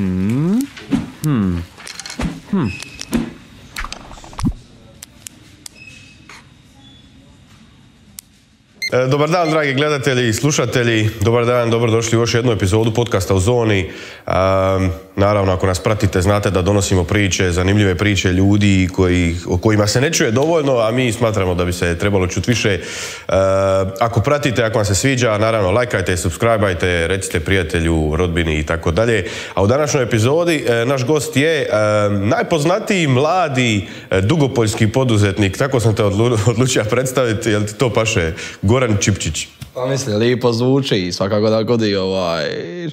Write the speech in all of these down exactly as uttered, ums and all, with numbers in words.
Hmm. Hmm. Hmm. Dobar dan, dragi gledatelji i slušatelji. Dobar dan, dobrodošli u još jednu epizodu podcasta u Zoni. Um, naravno, ako nas pratite, znate da donosimo priče, zanimljive priče ljudi koji, o kojima se ne čuje dovoljno, a mi smatramo da bi se trebalo čuti više. Uh, ako pratite, ako vam se sviđa, naravno, lajkajte, subscribeajte, recite prijatelju, rodbini i tako dalje. A u današnjoj epizodi uh, naš gost je uh, najpoznatiji mladi uh, dugopoljski poduzetnik. Tako sam te odlu odlučio predstaviti, jel ti to paše? Goran Čipčić. Pa mislim, lijepo zvuči i svakako da godi ovaj,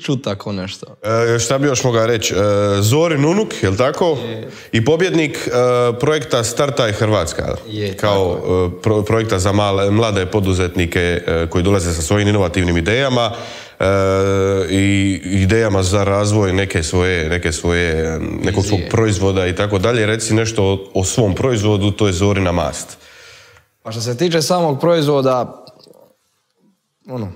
čut tako nešto. E, šta bi još mogao reći? E, Zorin unuk, jel tako? Je. I pobjednik e, projekta Startaj Hrvatska. Je, kao e, pro, projekta za male, mlade poduzetnike e, koji dolaze sa svojim inovativnim idejama e, i idejama za razvoj neke svoje, neke svoje, nekog svog proizvoda i tako dalje. Reci nešto o, o svom proizvodu, to je Zorina mast. Pa što se tiče samog proizvoda, ono,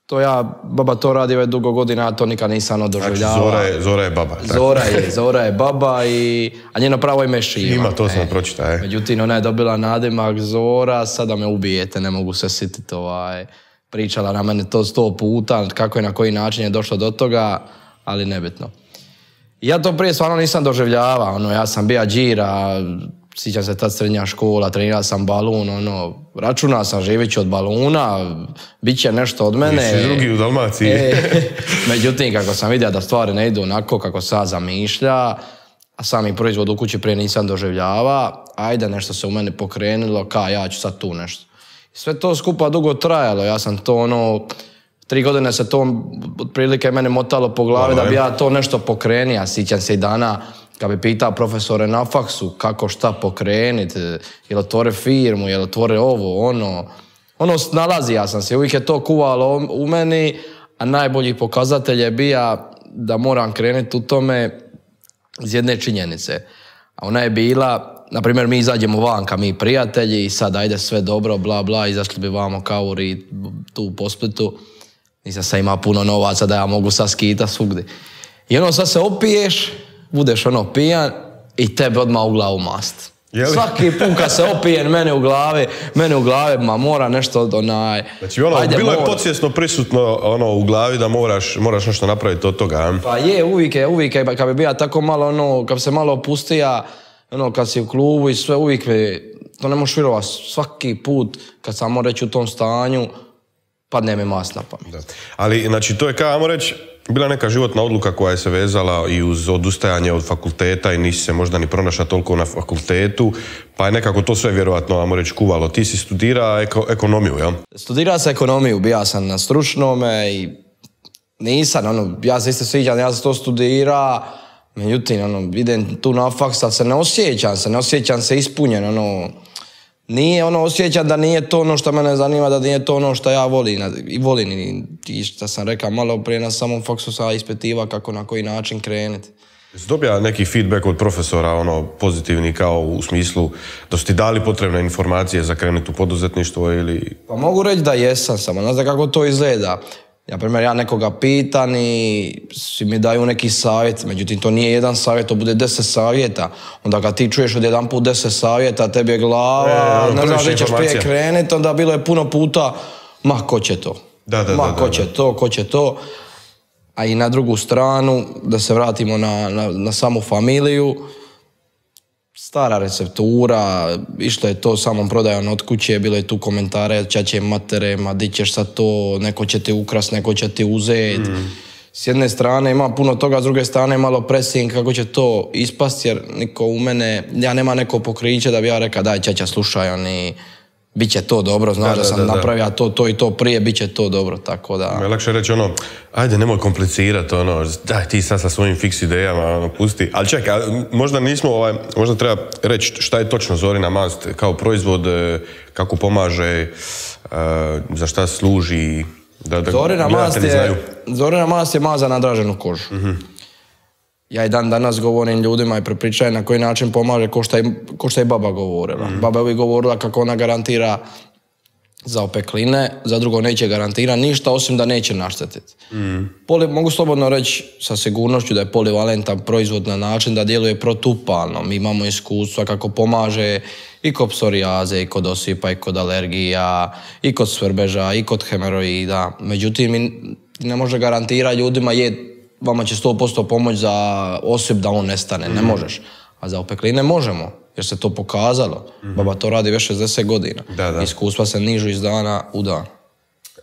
to ja, baba to radi već dugo godina, a to nikad nisam doživljavao. Znači, Zora je, Zora je baba. Tako. Zora je, Zora je baba, i, a njeno pravo ime je Šima. Ima, to sam e. pročitao, je. Međutim, ona je dobila nadimak Zora, sada me ubijete, ne mogu se sititi, ovaj, pričala na mene to sto puta, kako je, na koji način je došlo do toga, ali nebitno. Ja to prije stvarno nisam doživljavao, ono, ja sam bija džira, sjećam se tad srednja škola, trenirao sam balun, ono, računao sam živeći od baluna, bit će nešto od mene. Nisi drugi u Dalmaciji. E, međutim, kako sam vidio da stvari ne idu onako kako sad zamišlja, a sami proizvod u kući prije nisam doživljava, ajde, nešto se u mene pokrenulo, ka ja ću sad tu nešto. Sve to skupa dugo trajalo, ja sam to ono, tri godine se to otprilike mene motalo po glavi, da bi ja to nešto pokrenio, sjećam se i dana, kad bi pitao profesore na faksu kako šta pokreniti, jel otvore firmu, jel otvore ovo, ono. Ono, nalazio sam se, uvijek je to kuvalo u meni, a najbolji pokazatelj je bio da moram krenuti u tome iz jedne činjenice. A ona je bila, na primjer, mi izađemo vanka, mi prijatelji, i sad ajde sve dobro, bla bla, izašli bi vamo kauri tu po Splitu. Nisam sad imao puno novaca da ja mogu sad skita svugdje. I ono, sad se opiješ, budeš ono pijan i tebe odmah u glavu mast. Jeli? Svaki put kad se opijen, mene u glavi, mene u glavi, ma mora nešto od onaj... Znači ono, ajde, bilo mora. Je podsvjesno prisutno ono u glavi da moraš, moraš nešto napraviti od toga. Pa je, uvijek je, uvijek je, kad bi bija tako malo ono, kad bi se malo opustija, ono, kad si u klubu i sve, uvijek bi, to ne možeš vjerovati, svaki put kad sam moram reći u tom stanju, padne mi mast na pamet. Da. Ali, znači, to je kao, ajmo reći, bila neka životna odluka koja je se vezala i uz odustajanje od fakulteta i nisi se možda ni pronašla toliko na fakultetu, pa je nekako to sve vjerovatno, ajmo reći, kuvalo. Ti si studirao eko, ekonomiju, jel? Studirao sam ekonomiju, bija sam na stručnome i nisam, ono, ja se isto sviđam, ja sam to studirao, međutim, ono, idem tu na faks, ali se ne osjećam se, ne osjećam se ispunjen, ono, nije ono, osjećam da nije to ono što mene zanima, da nije to ono što ja volim. I volim i što sam rekao malo prije na samom faksu sam ispitiva kako na koji način krenuti. Jesi dobija neki feedback od profesora, ono, pozitivni, kao u smislu da su ti dali potrebne informacije za krenuti u poduzetništvo ili... Pa mogu reći da jesam, samo ne znam kako to izgleda. Ja, primjer, ja nekoga pitan i svi mi daju neki savjet, međutim to nije jedan savjet, to bude deset savjeta. Onda kad ti čuješ od jedan put deset savjeta, tebi je glava, e, ne znaš gdje ćeš prije krenuti, onda bilo je puno puta, ma ko će to? Da, da, ma da, ko da, će da. to, ko će to? A i na drugu stranu, da se vratimo na, na, na samu familiju, stara receptura, išlo je to samom prodajom od kuće, bilo je tu komentare, čače matere, ma di ćeš sad to, neko će ti ukrast, neko će ti uzeti. Mm. S jedne strane ima puno toga, s druge strane malo pressing kako će to ispast, jer niko u mene, ja nema neko pokriće da bi ja rekao daj čača slušaj, oni, bit će to dobro, znaš da, da sam da, da. napravio to, to i to prije, bit će to dobro, tako da... Je lakše reći ono, ajde nemoj komplicirati, ono, daj ti sad sa svojim fiks idejama, ono, pusti. Ali čekaj, možda nismo, ovaj, možda treba reći šta je točno Zorina mast kao proizvod, kako pomaže, za šta služi, da, da Zorina mast je, znaju. Zorina mast je maza na draženu kožu. Mm-hmm. Ja i dan danas govorim ljudima i prepričajem na koji način pomaže, ko što je, ko što je baba govorila. Mm. Baba je uvijek govorila kako ona garantira za opekline, za drugo neće garantirati ništa, osim da neće naštetiti. Mm. Poli, mogu slobodno reći sa sigurnošću da je polivalentan proizvod na način da djeluje protupalno. Mi imamo iskustva kako pomaže i kod psorijaze, i kod osipa, i kod alergija, i kod svrbeža, i kod hemoroida. Međutim, mi ne može garantirati ljudima je, vama će sto posto pomoći za osip da on nestane. Mm. Ne možeš. A za opekline možemo, jer se to pokazalo. Mm-hmm. Baba to radi već šezdeset godina. Da, da. Iskustva se nižu iz dana u dan.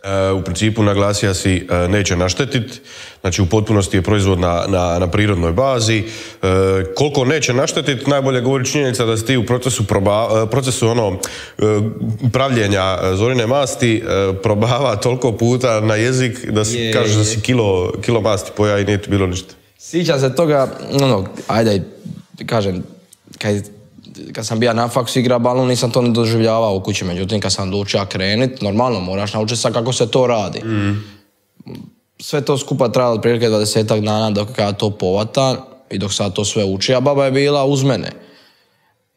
E, u principu naglasija si e, neće naštetiti, znači u potpunosti je proizvod na, na, na prirodnoj bazi. E, koliko neće naštetiti, najbolje govori činjenica da si ti u procesu, proba, procesu ono, e, pravljenja zorine masti e, probava toliko puta na jezik da si je, kažeš da si kilo, kilo masti poja i nije ti bilo ništa. Sjećam se toga, ono, ajde, kažem, kad, kad sam bio na faksu igra balon, nisam to ne doživljavao u kući. Međutim, kad sam odlučio krenit, normalno, moraš naučiti sad kako se to radi. Mm. Sve to skupa trajalo otprilike dvadesetak dana dok ja to povatam i dok sad to sve uči, a baba je bila uz mene.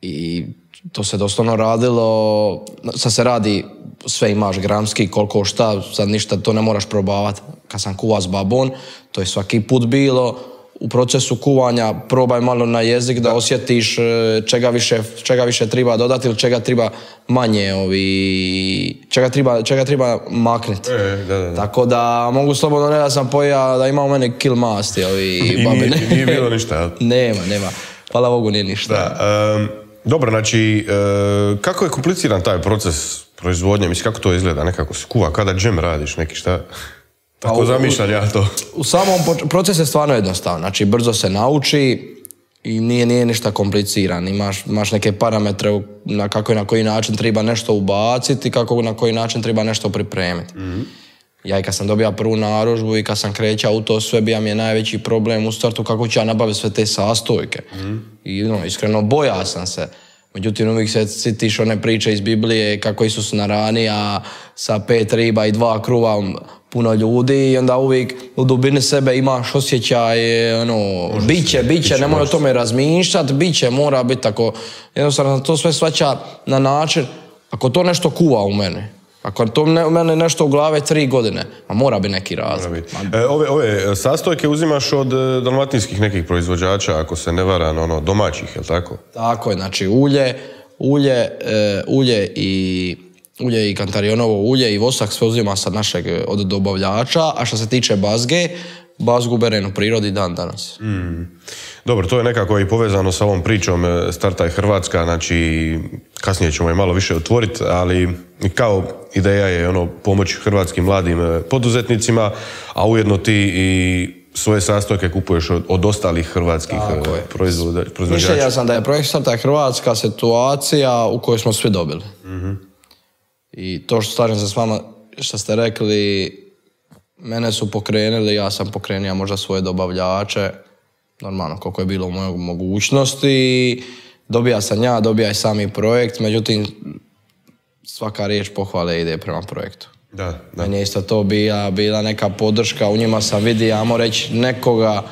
I to se doslovno radilo, sad se radi, sve imaš gramski, koliko šta, sad ništa to ne moraš probavati. Kad sam kuva s babom, to je svaki put bilo, u procesu kuvanja probaj malo na jezik da osjetiš čega više, čega više treba dodati ili čega treba manje, ovi, čega treba, čega treba makniti. E, da, da, da. Tako da mogu slobodno ne da sam pojao da ima u mene kill masti. Ovi, babine. Nije, nije bilo ništa, jel? Nema, nema. Hvala Bogu, nije ništa. Da, um, dobro, znači, uh, kako je kompliciran taj proces proizvodnje? Mislim, kako to izgleda? Nekako se kuva, kada džem radiš, neki šta? Tako u, zamišljam ja to. U samom procesu je stvarno jednostavno. Znači, brzo se nauči i nije, nije ništa kompliciran. Imaš, imaš neke parametre na kako i na koji način treba nešto ubaciti i kako na koji način treba nešto pripremiti. Mm-hmm. Ja i kad sam dobio prvu narudžbu i kad sam krećao u to sve, bio mi je najveći problem u startu kako ću ja nabaviti sve te sastojke. Mm-hmm. I no, iskreno bojao sam se. Međutim, uvijek se sitiš one priče iz Biblije kako Isus naranija sa pet riba i dva kruva puno ljudi i onda uvijek u dubini sebe imaš osjećaj, ono, biće, biće, nemoj o tome razmišljati, biće, mora biti tako. Jednostavno to sve svaća na način, ako to nešto kuva u mene, ako to u mene nešto u glave tri godine, a mora biti neki razlog. E, ove, ove sastojke uzimaš od dalmatinskih nekih proizvođača, ako se ne varam, ono, domaćih, je li tako? Tako je, znači ulje, ulje, e, ulje i... ulje i kantarionovo ulje i vosak sve uzima sa našeg od dobavljača, a što se tiče bazge, bazgu berem u prirodi dan danas. Mm. Dobro, to je nekako i povezano sa ovom pričom Startaj Hrvatska, znači kasnije ćemo je malo više otvoriti, ali kao ideja je ono pomoć hrvatskim mladim poduzetnicima, a ujedno ti i svoje sastojke kupuješ od, od ostalih hrvatskih proizvođača. Mišljenja sam da je projekt Startaj Hrvatska situacija u kojoj smo svi dobili. Mm-hmm. I to što slažem se s vama što ste rekli, mene su pokrenuli, ja sam pokrenio možda svoje dobavljače, normalno koliko je bilo u mojoj mogućnosti. Dobija sam ja, dobija i sami projekt, međutim svaka riječ pohvale ide prema projektu. Da, da. Meni je isto to bila, bila neka podrška, u njima sam vidio, ajmo reći, nekoga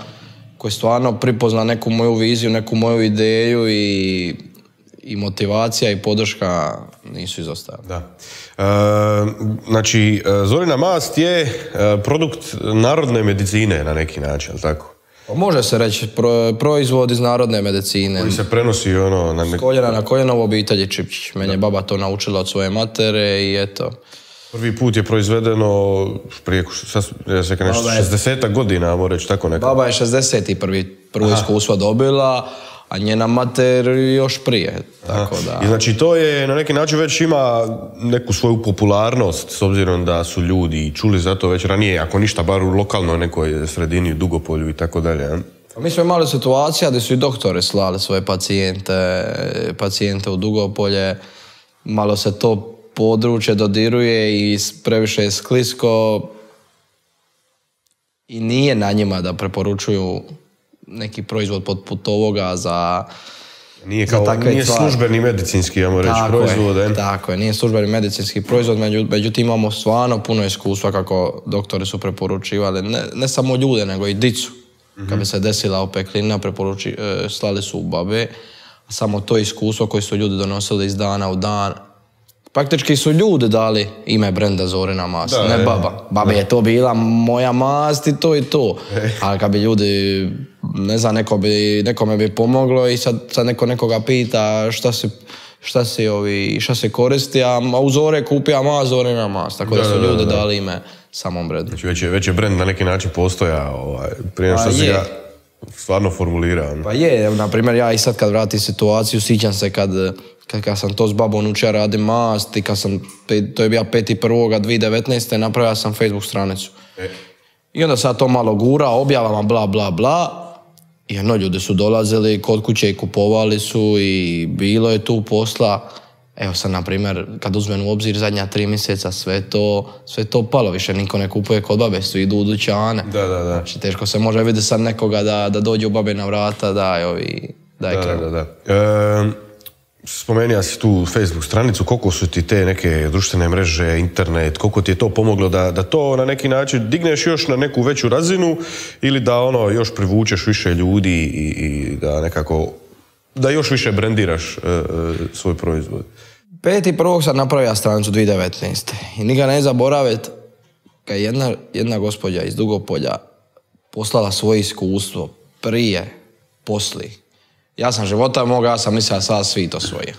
koji stvarno pripozna neku moju viziju, neku moju ideju i i motivacija i podrška nisu izostajali. Da. E, znači, zorina mast je e, produkt narodne medicine na neki način, tako? Može se reći, pro, proizvod iz narodne medicine. Koji se prenosi ono... Na nek... S koljena na koljena u obitelji Čipčić. Meni je baba to naučila od svoje matere i eto. Prvi put je proizvedeno prije šezdesetak godina, ajmo reći, tako nekako. Baba je šezdeset prvi prvo iskustvo dobila, a njena mater još prije, tako da... I znači to je na neki način već ima neku svoju popularnost, s obzirom da su ljudi čuli za to već ranije, ako ništa, bar u lokalnoj nekoj sredini, u Dugopolju i tako dalje. Mi smo imali situacija gdje su i doktori slali svoje pacijente, pacijente u Dugopolje, malo se to područje dodiruje i previše je sklisko i nije na njima da preporučuju neki proizvod poput ovoga za, nije kao, za takve nije tvari. Službeni medicinski, ja moram reći, proizvod. Je, tako je, nije službeni medicinski proizvod, međutim imamo stvarno puno iskustva kako doktori su preporučivali, ne, ne samo ljude, nego i dicu. Mm-hmm. Kad bi se desila opeklina, preporuči, slali su u babe, a samo to iskustvo koje su ljudi donosili iz dana u dan, praktički su ljudi dali ime brenda Zorina mast, da, ne je. baba. Baba je to bila moja mast i to i to. E. Ali kad bi ljudi, ne znam, neko bi, nekome bi pomoglo i sad, sad neko nekoga pita šta si, šta si, ovi, šta se koristi, a u Zore kupija mast, Zorina mast. Tako da, da su da, ljudi da, da. dali ime samom brendu. Znači već je, već je brend na neki način postoja, ovaj, prije što Pa si je. ga stvarno formulirao. Pa je, evo, na primjer, ja i sad kad vratim situaciju, sjećam se kad, kad, kad sam to s babom učio radim mast i kad sam, to je bio peti prvog dvije tisuće devetnaeste. napravio sam Facebook stranicu. E. I onda sad to malo gura, objavama bla bla bla. I jedno, ljudi su dolazili kod kuće i kupovali su i bilo je tu posla. Evo sad, na primjer, kad uzmem u obzir zadnja tri mjeseca, sve to, sve to palo, više niko ne kupuje kod babe, su idu u dućane. Da, da, da. Znači, teško se može vidjeti sad nekoga da, da dođe u babe na vrata, daj ovi, daj Da, krenu. da, da. E, spomenuo si tu Facebook stranicu, koliko su ti te neke društvene mreže, internet, koliko ti je to pomoglo da, da to na neki način digneš još na neku veću razinu ili da ono još privučeš više ljudi i, i da nekako, da još više brendiraš e, e, svoj proizvod? Peti prvog sam napravio stranicu dvije tisuće devetnaeste. I nikad ne zaboraviti kad je jedna, jedna gospođa iz Dugopolja poslala svoje iskustvo prije, posli. Ja sam života moga, ja sam mislila sad svi to svoje.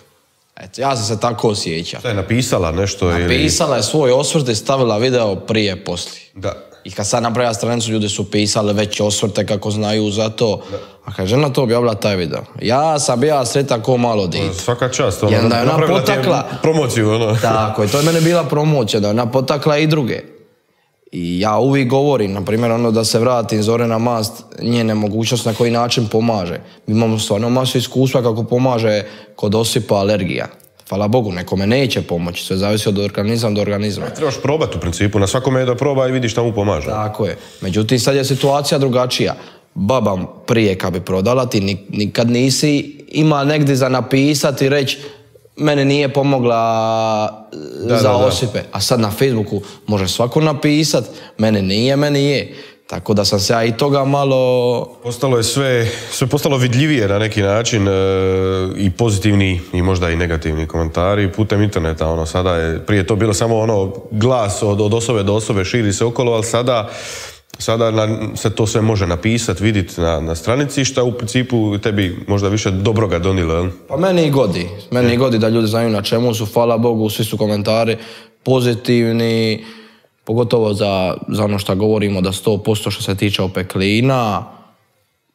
Eto, ja sam se tako osjećao. Šta je napisala nešto ili... Napisala je svoj osvrt i stavila video prije, posli. Da. I kad sad napravila stranicu, ljudi su pisali već osvrte kako znaju za to. Da. A kad je žena to objavila taj video, ja sam bio sretan ko malo dite. Svaka čast, ono, I onda je ona napravila potakla promociju, ono. Tako je, to je mene bila promocija, da je ona potakla i druge. I ja uvijek govorim, na primjer, ono da se vratim Zorina mast, njene mogućnost na koji način pomaže. Mi imamo stvarno masu iskustva kako pomaže kod osipa alergija. Hvala Bogu, nekome neće pomoći, sve zavisi od organizma do organizma. Trebaš probati u principu, na svakome je da proba i vidi šta mu pomaže. Tako je. Međutim, sad je situacija drugačija. Baba prije kad bi prodala, ti nikad nisi ima negdje za napisati i reći mene nije pomogla da, za da, da. osipe. A sad na Facebooku može svako napisati mene nije, meni je. Tako da sam se ja i toga malo... Postalo je sve, sve postalo vidljivije na neki način e, i pozitivni i možda i negativni komentari putem interneta. Ono, sada je, prije to bilo samo ono glas od, od osobe do osobe, širi se okolo, ali sada, sada na, se to sve može napisati, vidjeti na, na stranici, šta u principu tebi možda više dobroga donilo. Jel? Pa meni i godi. Meni i godi da ljudi znaju na čemu su, hvala Bogu, svi su komentari pozitivni. Pogotovo za, za ono što govorimo da sto posto što se tiče opeklina.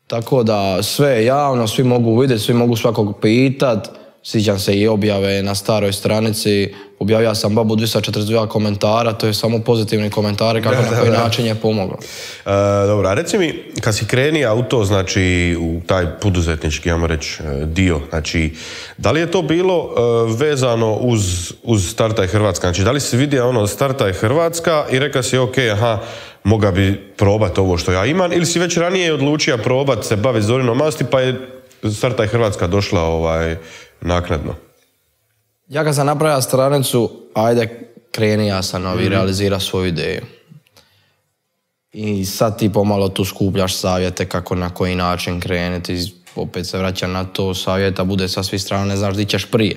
Tako da sve je javno, svi mogu vidjeti, svi mogu svakog pitat. Sjećam se i objave na staroj stranici. Objavio sam babu dvjesto četrdeset dva komentara, to je samo pozitivni komentari kako da, na koji da, način je pomoglo. E, dobro, a reci mi, kad si krenio u to, znači u taj poduzetnički, ajmo reći, dio, znači, da li je to bilo uh, vezano uz, uz Startaj Hrvatska? Znači, da li si vidio ono Startaj Hrvatska i rekao si, ok, aha, moga bi probat ovo što ja imam, ili si već ranije odlučio probat se baviti Zorinom masti, pa je Startaj Hrvatska došla ovaj, naknadno? Ja kad sam napravio stranicu, ajde, kreni ja sam novi, mm-hmm. realizira svoju ideju. I sad ti pomalo tu skupljaš savjete kako na koji način krenuti. Opet se vraćam na to, savjeta bude sa svih strana, ne znaš di ćeš prije.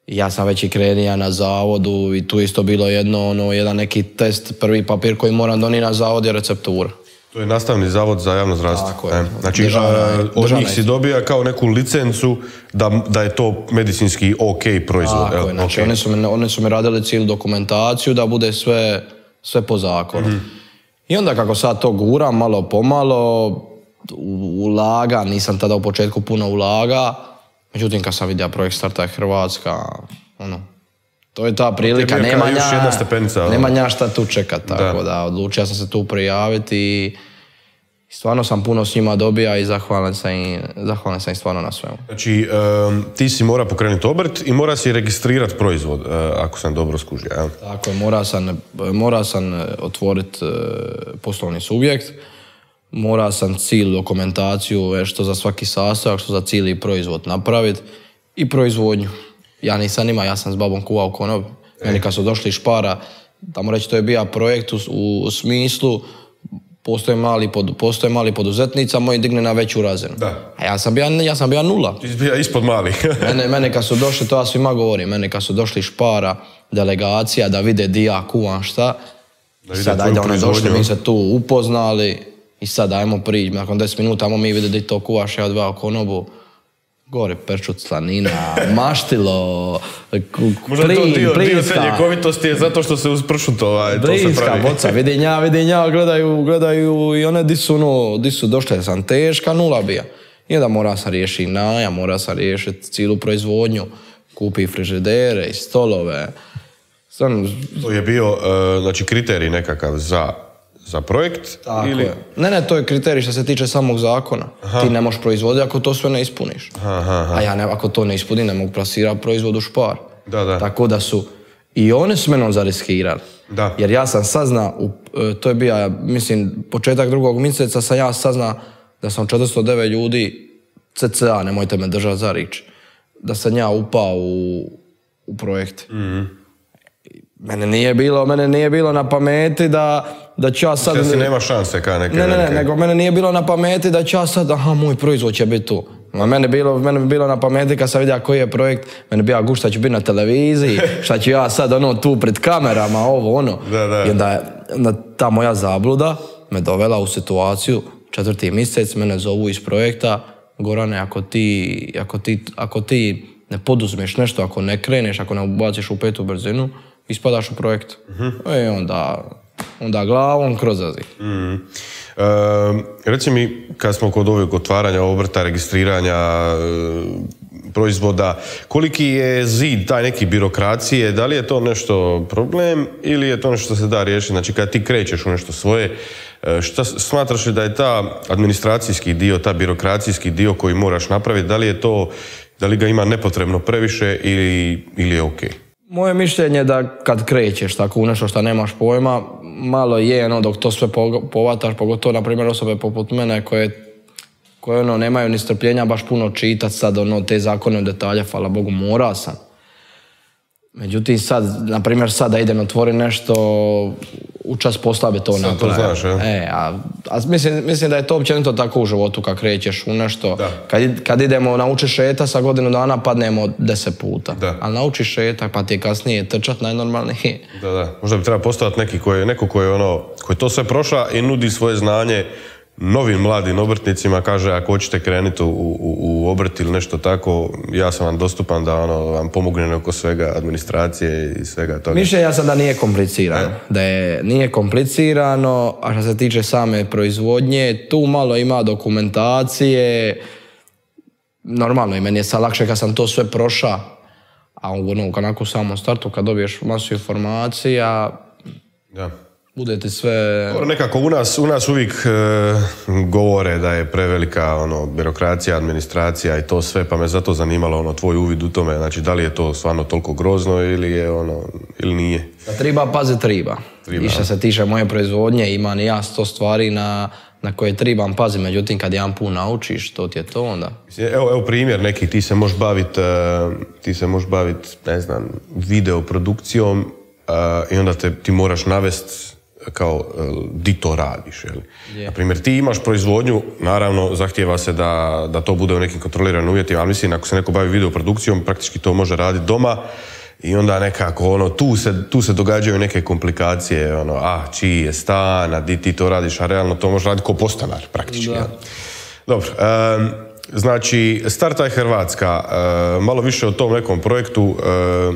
I ja sam već i krenija na zavodu i tu isto bilo jedno, ono, jedan neki test, prvi papir koji moram donijeti na zavod je receptura. To je nastavni zavod za javno zdravstvo. Tako je. Znači, državna, od njih si dobija kao neku licencu da, da je to medicinski ok proizvod. Tako je, znači okay. oni, su mi, oni su mi radili cijelu dokumentaciju da bude sve, sve po zakonu. Mm-hmm. I onda kako sad to guram, malo pomalo, ulaga, nisam tada u početku puno ulaga, međutim kad sam vidio projekt Startaj Hrvatska, ono, to je ta prilika, je nema nja, stepenca, nema nja šta tu čekat, tako da. da odlučio sam se tu prijaviti i stvarno sam puno s njima dobija i zahvalan sam im, zahvalan sam im stvarno na svemu. Znači, um, ti si mora pokrenuti obrt i mora si registrirati proizvod, uh, ako sam dobro skužio, jel? Tako je, mora sam, mora sam otvoriti uh, poslovni subjekt, mora sam cijelu dokumentaciju, što za svaki sastojak, što za cijeli proizvod napraviti i proizvodnju. Ja nisam ima, ja sam s babom kuvao konob. Meni kad su došli iz Špara, tamo reći to je bio projekt u, u smislu postoje mali, pod, postoje mali poduzetnica, moji digne na veću razinu. Da. A ja sam bio, ja sam bio nula. Ti si bio ispod mali. mene, mene kad su došli, to ja svima govorim, mene kad su došli Špara, delegacija, da vide di ja kuvam šta, da sad ajde oni došli, mi se tu upoznali i sad ajmo prići, nakon deset minuta ajmo mi vidjeti di to kuvaš, ja odveo konobu, gore perčut, slanina, maštilo, plin, možda to dio, plinska. Dio te ljekovitosti je zato što se uz pršut ovaj, to se Plinska pravi. boca, vidim ja, vidim ja, gledaju, gledaju i one di su, no, di su došle, sam teška nula bija. I onda mora sam riješiti najam, mora sam riješiti cijelu proizvodnju, kupi frižidere i stolove. Sam... To je bio, uh, znači, kriterij nekakav za, za projekt? Tako ili... je. Ne, ne, to je kriterij što se tiče samog zakona. Aha. Ti ne možeš proizvoditi ako to sve ne ispuniš. Aha, aha. A ja ne, ako to ne ispunim, ne mogu plasirati proizvod u Špar. Da, da. Tako da su i oni su menom zariskirali. Da. Jer ja sam sazna, u, to je bio, mislim, početak drugog mjeseca sam ja sazna da sam četiristo devet ljudi, cca, nemojte me držati za rič, da sam ja upao u, u projekt. Mm-hmm. Mene nije bilo, mene nije bilo na pameti da, da ću ja sad... Kada si nema šanse ka neke... Ne, ne, ne, neke... nego mene nije bilo na pameti da ću ja sad, aha, moj proizvod će biti tu. A mene bilo, mene bi bilo na pameti kad sam vidio koji je projekt, mene bi ja gušta ću biti na televiziji, šta ću ja sad ono tu pred kamerama, ovo ono. Da, da. I onda, onda ta moja zabluda me dovela u situaciju, četvrti mjesec, mene zovu iz projekta, Gorane, ako ti, ako ti, ako ti ne poduzmeš nešto, ako ne kreneš, ako ne ubaciš u petu brzinu, ispadaš u projekt. Uh-huh. I onda, onda glavom kroz azi. Uh-huh. E, reci mi, kad smo kod ovog otvaranja obrta, registriranja e, proizvoda, koliki je zid taj neki birokracije, da li je to nešto problem ili je to nešto što se da riješiti? Znači, kad ti krećeš u nešto svoje, šta smatraš li da je ta administracijski dio, ta birokracijski dio koji moraš napraviti, da li je to, da li ga ima nepotrebno previše ili, ili je okej? Okay? Moje mišljenje je da kad krećeš tako u nešto što nemaš pojma, malo je, no, dok to sve povataš, pogotovo, na primjer, osobe poput mene koje, koje ono, nemaju ni strpljenja baš puno čitati sad, ono, te zakone u detalje, hvala Bogu, mora sam. Međutim, sad, na primjer, sad da idem otvori nešto, u čas posla bi to napravio. Sad to znaš, ja? E, a, a mislim, mislim da je to općenito tako u životu kad krećeš u nešto. Kad, kad idemo naučiš šeta, sa godinu dana padnemo deset puta. Da. Ali naučiš šeta, pa ti je kasnije trčat najnormalnije. Da, da. Možda bi treba postojati neki koji, neko koji je ono, koji to sve prošla i nudi svoje znanje novim mladim obrtnicima, kaže ako hoćete krenuti u, u, u obrt ili nešto tako, ja sam vam dostupan da ono, vam pomognem oko svega, administracije i svega toga. Mišljenja sam da nije komplicirano. E? Da je, nije komplicirano, a što se tiče same proizvodnje, tu malo ima dokumentacije. Normalno, i meni je sad lakše kad sam to sve prošao, a ono, onako u samom startu, kad dobiješ masu informacija, da. Bude ti sve... Nekako u nas, u nas uvijek e, govore da je prevelika ono, birokracija, administracija i to sve, pa me zato zanimalo ono, tvoj uvid u tome, znači da li je to stvarno toliko grozno ili je ono, ili nije? Da triba pazi triba. triba. I što se tiče moje proizvodnje, imam i ja sto stvari na, na koje tribam pazi, međutim kad jedan put naučiš, to ti je to onda. Evo, evo primjer neki, ti se možeš baviti, ti se možeš baviti, ne znam, videoprodukcijom uh, i onda te, ti moraš navesti kao di to radiš. Yeah. Na primjer, ti imaš proizvodnju, naravno zahtijeva se da, da to bude u nekim kontroliranim uvjetima, ali mislim, ako se neko bavi videoprodukcijom, praktički to može raditi doma i onda nekako, ono, tu se, tu se događaju neke komplikacije, ono, ah, čiji je stan, a di ti to radiš, a realno to može raditi ko postanar, praktički. Ja. Dobro, um, znači, Startaj Hrvatska, uh, malo više o tom nekom projektu, uh,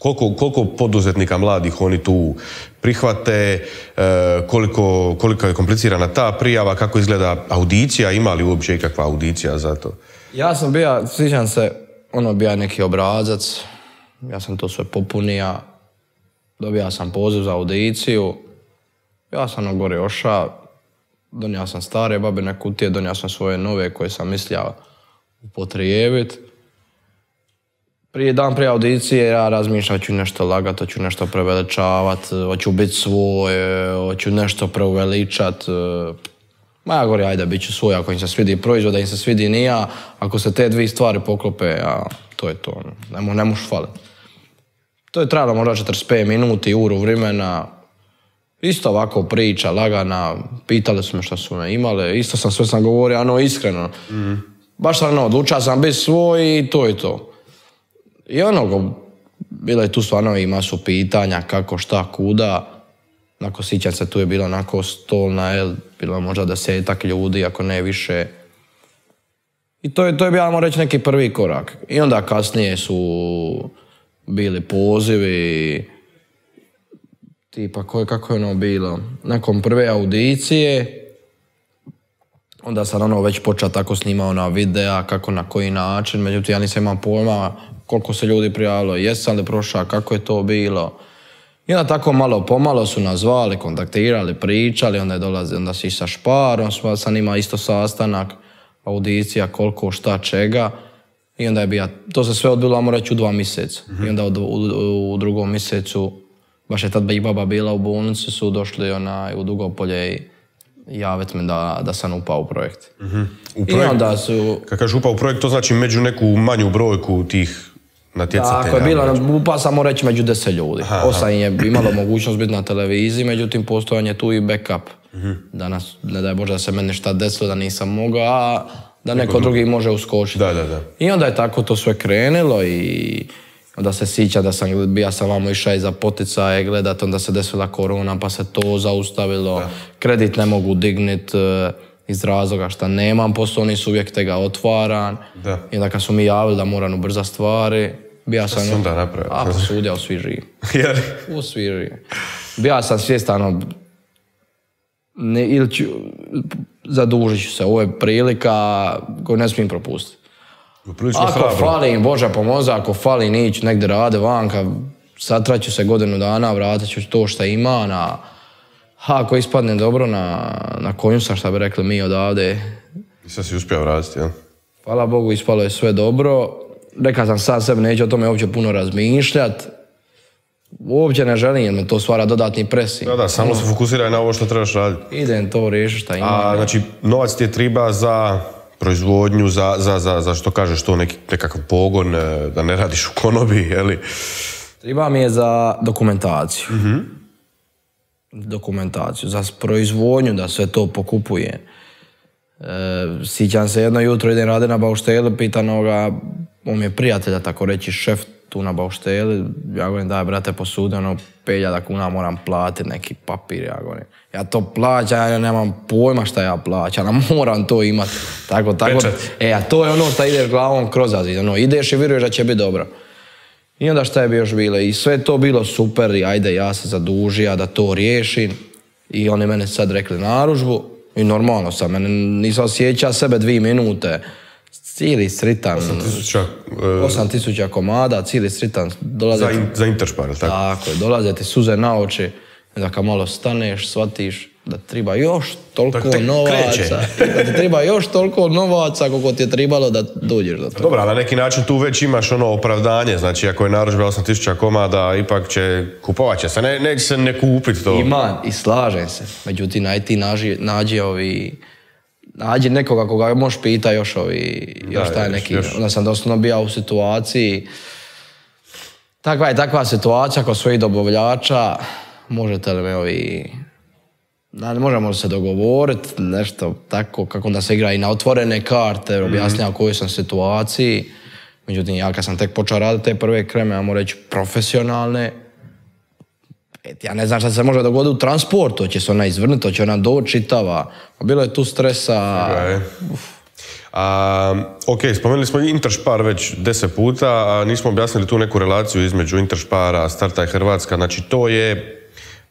Koliko, koliko poduzetnika mladih oni tu prihvate, koliko, koliko je komplicirana ta prijava, kako izgleda audicija, ima li uopće ikakva audicija za to? Ja sam bio, sjećam se, ono bio neki obrazac, ja sam to sve popunio, dobio sam poziv za audiciju, ja sam na gore ošao, donio sam stare babine kutije, donio sam svoje nove koje sam mislio upotrijebiti. Prije dan prije audicije ja razmišljam, hoću nešto lagat, hoću nešto preveličavat, hoću biti svoj, hoću nešto preuveličat. Ma ja govorim, ajde, bit ću svoj, ako im se svidi proizvod, da im se svidi ni ja, ako se te dvije stvari poklope, a to je to, ne, ne možeš faliti. To je trajalo možda četrdeset pet minuti, uru vremena, Isto ovako priča, lagana, pitali su me što su me imale, isto sam sve sam govorio, ano, iskreno. Mm. Baš sam, ono, odlučio sam biti svoj i to je to. I ono, bilo je tu stvarno i masu pitanja, kako, šta, kuda. Nakon sjećam se, tu je bilo onako stolna, jel, bilo možda desetak ljudi, ako ne više. I to je, to je bilo, reći, neki prvi korak. I onda kasnije su bili pozivi, tipa, koje, kako je ono bilo, nakon prve audicije, onda sam ono već počeo tako snimao na videa, kako, na koji način, međutim ja nisam imao pojma koliko se ljudi prijavilo, jesam li prošao, kako je to bilo. I onda tako malo pomalo su nas zvali, kontaktirali, pričali, onda je dolazi, onda si sa Šparom, sam imao isto sastanak, audicija, koliko, šta, čega. I onda je bio, to se sve odbilo, ajmo reći, u dva mjeseca. Mm-hmm. I onda u, u, u drugom mjesecu, baš je tad i baba bila u bolnici, su došli onaj, u Dugopolje i javiti me da, da sam upao u projekt. Mm-hmm. U projekt, I onda su... Kad kažeš upao u projekt, to znači među neku manju brojku tih natjecatelja? Tako je bilo, upao sam mu reći među deset ljudi. Aha, Osam je imalo mogućnost biti na televiziji, međutim postojan je tu i backup. Mm-hmm. Danas, ne daj Bože da se meni šta desilo, da nisam mogao, a da neko drugi može uskočiti. Da, da, da. I onda je tako to sve krenulo i onda se sjeća da sam, ja sam vamo išao i za poticaje gledat, onda se desila korona pa se to zaustavilo, da. Kredit ne mogu dignit iz razloga što nemam poslovni subjekt, te ga otvaram. Da. I onda kad su mi javili da moram ubrzati stvari, bija sam... Šta onda napravio? A, posudio, svi živi. U svi živi. Bija sam svjestan, ne, ili ću, zadužit ću se, ovo je prilika koju ne smijem propustiti. Prilično ako hrabro. fali, Bože pomozi, ako fali nić negdje rade vanka, satraću se godinu dana, vratit ću to što ima, na, ako ispadne dobro na, na konju sam, šta bi rekli mi odavde. I sad si uspio vratiti, jel? Hvala Bogu, ispalo je sve dobro. Rekao sam sad sebi, neću o tome uopće puno razmišljat. Uopće ne želim, jer me to stvara dodatni presing. Da, da, samo se fokusiraj na ovo što trebaš raditi. Idem to riješiti šta imam. A, znači, novac ti je treba za proizvodnju, za, za, za, za što kažeš to, neki, nekakav pogon, da ne radiš u konobi, jeli? Treba mi je za dokumentaciju. Mm-hmm. Dokumentaciju, za proizvodnju, da sve to pokupuje. E, sjećam se, jedno jutro idem raditi na baušteli, pitan ga, on mi je prijatelja, tako reći, šef tu na baušteli, ja govorim, daj brate, posudi, ono, pet hiljada kuna moram platiti neki papir, ja govorim. Ja to plaćam, ja nemam pojma šta ja plaćam, ja moram to imati. Tako, tako. E, a to je ono što ideš glavom kroz azid, ono, ideš i vjeruješ da će biti dobro. I onda šta je bi još bilo? I sve to bilo super i ajde, ja se zadužio da to riješim. I oni mene sad rekli naručbu i normalno sam, mene nisam osjećao sebe dvije minute. Cijeli sritan. osam tisuća komada, cijeli sritan. Dolaze za, in, za Interspar, tako? Tako je, dolaze ti suze na oči. Da kad malo staneš, shvatiš da treba još toliko novaca. Da ti treba još toliko novaca koliko ti je trebalo da dođeš do toga. Dobro, na neki način tu već imaš ono opravdanje. Znači, ako je narudžba osam tisuća komada, ipak će kupovat će se. Ne, neće se ne kupiti to. Ima i slažem se. Međutim, aj ti nađi, nađi ovi... Nađi nekoga koga možeš pita još ovi... Da, još taj neki... Još. Onda sam doslovno bio u situaciji... Takva je takva situacija kod svojih dobavljača. Možete li me ovi... Da, možemo se dogovoriti, nešto tako, kako da se igra i na otvorene karte, objasnjava u kojoj sam situaciji. Međutim, ja kad sam tek počeo raditi te prve kreme, ja moram reći profesionalne, ja ne znam šta se može dogoditi u transportu, će se ona izvrnuti, hoće ona doći čitava. Bilo je tu stresa. Okay. A, ok, spomenuli smo Interspar već deset puta, a nismo objasnili tu neku relaciju između Interspara, Startaj Hrvatska, znači to je...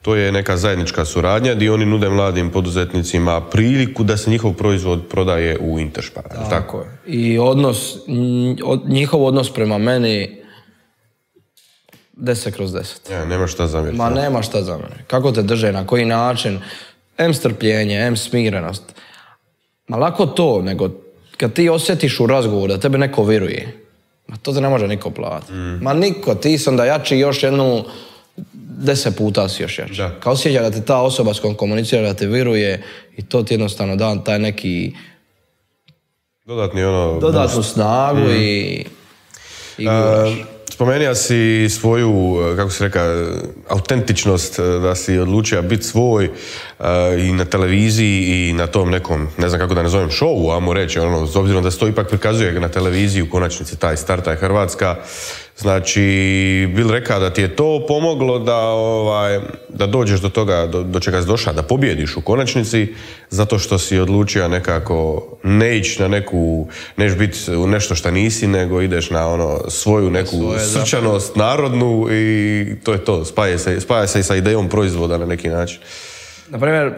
To je neka zajednička suradnja gdje oni nude mladim poduzetnicima priliku da se njihov proizvod prodaje u Interspar. Tako, tako je. I odnos, njihov odnos prema meni deset kroz deset. Ja, nema šta zamjeriti. Ma nema šta zamjeriti. Kako te drže, na koji način, em strpljenje, em smirenost. Ma lako to, nego kad ti osjetiš u razgovoru da tebe neko vjeruje, ma to te ne može niko platiti. Mm. Ma niko, ti sam da jači još jednu deset puta si još jači. Kao osjeća da ti ta osoba s kojom komunicira da te viruje i to ti jednostavno da taj neki dodatni ono... dodatnu snagu mm. i... i uh, spomenuo si svoju, kako si rekao, autentičnost, da si odlučio biti svoj uh, i na televiziji i na tom nekom, ne znam kako da nazovem, šovu, ajmo reći, ono, s obzirom da se to ipak prikazuje na televiziji, u konačnici taj Startaj Hrvatska. Znači, bil rekao da ti je to pomoglo da, ovaj, da dođeš do toga, do, do čega si došao, da pobjediš u konačnici, zato što si odlučio nekako ne ići na neku, neš biti u nešto što nisi, nego ideš na ono svoju neku svoje, srčanost, zapravo narodnu i to je to, spaja se, spaja se i sa idejom proizvoda na neki način. Naprimjer,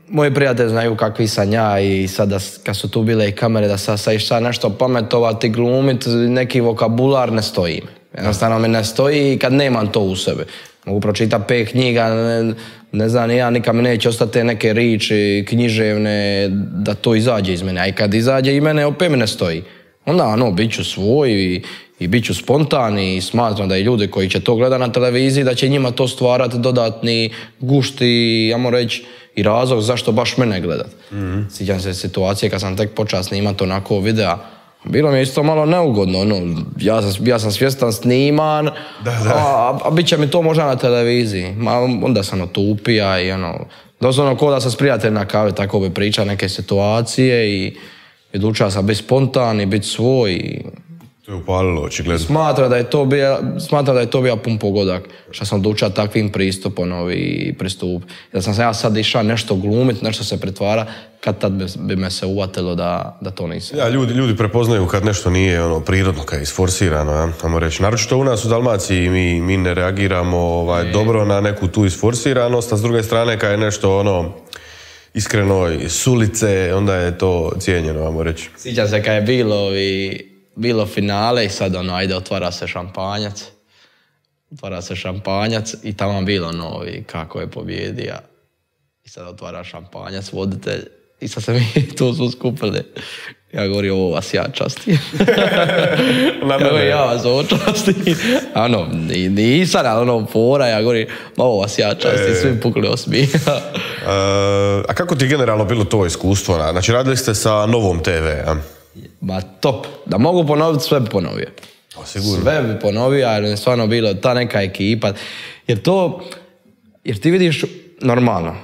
moji prijatelji znaju kakvi sam ja i sada kad su tu bile i kamere da sad sad šta nešto pametovati, glumiti, neki vokabular ne stoji. Jednostavno mi ne stoji i kad nemam to u sebi. Mogu pročitati pet knjiga, ne, ne znam, ja nikad mi neće ostati neke riči književne da to izađe iz mene. A i kad izađe i mene, opet mi ne stoji. Onda, ono, bit ću svoj i, i bit ću spontan i smatram da i ljudi koji će to gledati na televiziji, da će njima to stvarati dodatni gušt i, ajmo reći, i razlog zašto baš mene gledat. Mm-hmm. Sjećam se situacije kad sam tek počeo snimati onako videa. Bilo mi je isto malo neugodno, ono, ja sam, ja sam svjestan sniman, da, da. A, a bit će mi to možda na televiziji. Ma, onda sam otupija i ono, doslovno ko da sam s prijateljem na kavi, tako bi pričao neke situacije i, i odlučio sam biti spontan i biti svoj. I to je upalilo, očigledno. Smatra da je to bio, smatra da je to bio pun pogodak, što sam odlučio takvim pristupom i pristup. Jer sam se ja sad išao nešto glumit, nešto se pretvara, kad tad bi, bi me se uvatilo da, da to nisam. Ja, ljudi, ljudi prepoznaju kad nešto nije ono, prirodno, kad je isforsirano, ja, tamo reći. Naročito u nas u Dalmaciji mi, mi ne reagiramo ovaj, dobro na neku tu isforsiranost, a s druge strane kad je nešto ono, iskreno s ulice, onda je to cijenjeno, ajmo reći. Sjećam se kad je bilo i bilo finale i sad ono, ajde, otvara se šampanjac. Otvara se šampanjac i tamo bilo novi kako je pobjedio. I sad otvara šampanjac, voditelj. I sad se mi tu su skupili. Ja govorim, ovo vas ja častim. ja govorim, ja vas ovo častim. Ano, nisam, ali ono, fora, ja govorim, ovo vas ja častim, e... svi pukli osmijeha. uh, a kako ti je generalno bilo to iskustvo? Znači, radili ste sa Novom te ve, a? Ma top. Da mogu ponoviti, sve bi ponovio. O, sigurno. Sve bi ponovio, jer je stvarno bilo ta neka ekipa. Jer to, jer ti vidiš, normalno,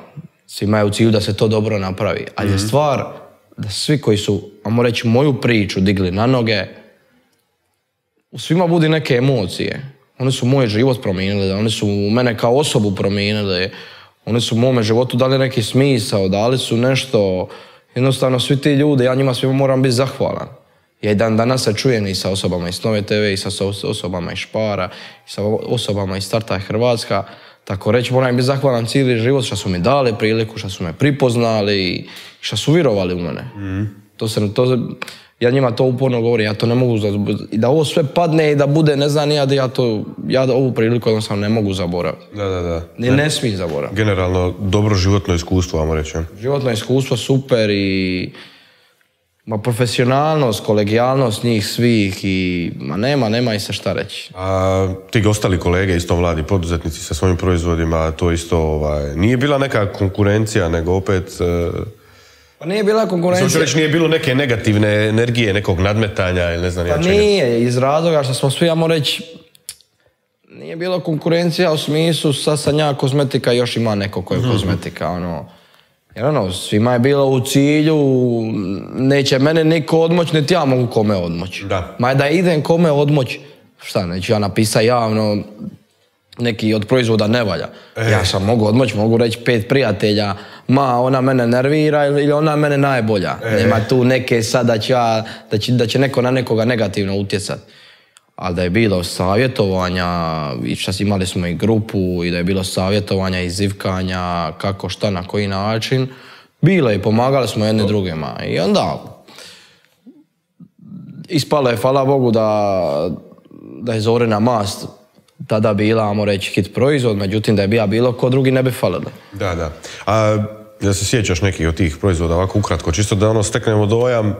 svi imaju u cilju da se to dobro napravi, ali mm-hmm. je stvar da svi koji su, ajmo reći, moju priču digli na noge, u svima budi neke emocije. Oni su moj život promijenili, oni su mene kao osobu promijenili, oni su u mome životu dali neki smisao, dali su nešto. Jednostavno, svi ti ljudi, ja njima svima moram biti zahvalan. Ja i dan danas se čujem i sa osobama iz Nove te ve, i sa osobama iz Špara, i sa osobama iz Startaj Hrvatska. Tako reći, moram biti zahvalan cijeli život što su mi dali priliku, što su me pripoznali i što su vjerovali u mene. Mm. To se, to, ja njima to uporno govorim, ja to ne mogu, i da ovo sve padne i da bude, ne znam, ja, ja, to, ja ovu priliku jednostavno ne mogu zaboraviti. Da, da, da. Ne, ne smijem zaboraviti. Generalno, dobro životno iskustvo, vamo reći. Životno iskustvo super i ma, profesionalnost, kolegijalnost njih svih i ma nema, nema i se šta reći. A ti ostali kolege, isto mladi poduzetnici sa svojim proizvodima, to isto ovaj, nije bila neka konkurencija, nego opet... Uh... Pa nije bila konkurencija. Znači reći, nije bilo neke negativne energije, nekog nadmetanja ili ne znam pa ja čega. Nije, iz razloga što smo svi, ja moram reći, nije bila konkurencija u smislu sad sam ja kozmetika, još ima neko ko je mm-hmm. kozmetika, ono. Jer ono, svima je bilo u cilju, neće mene niko odmoć, niti ja mogu kome odmoć. Da. Ma da idem kome odmoć, šta, neću ja napisati javno, neki od proizvoda ne valja. E. Ja sam mogu odmoć, mogu reći pet prijatelja, ma ona mene nervira ili ona mene najbolja. E. Nema tu neke sad da će, ja, da, će, da će neko na nekoga negativno utjecati. Ali da je bilo savjetovanja, i šta imali smo i grupu, i da je bilo savjetovanja i zivkanja, kako, šta, na koji način, bilo je i pomagali smo jedne drugima. I onda ispalo je, hvala Bogu, da, da je Zorina mast tada bila, ajmo reći, hit proizvod, međutim da je bila bilo ko drugi ne bi falili. Da, da. A da se sjećaš nekih od tih proizvoda, ovako ukratko, čisto da ono steknemo dojam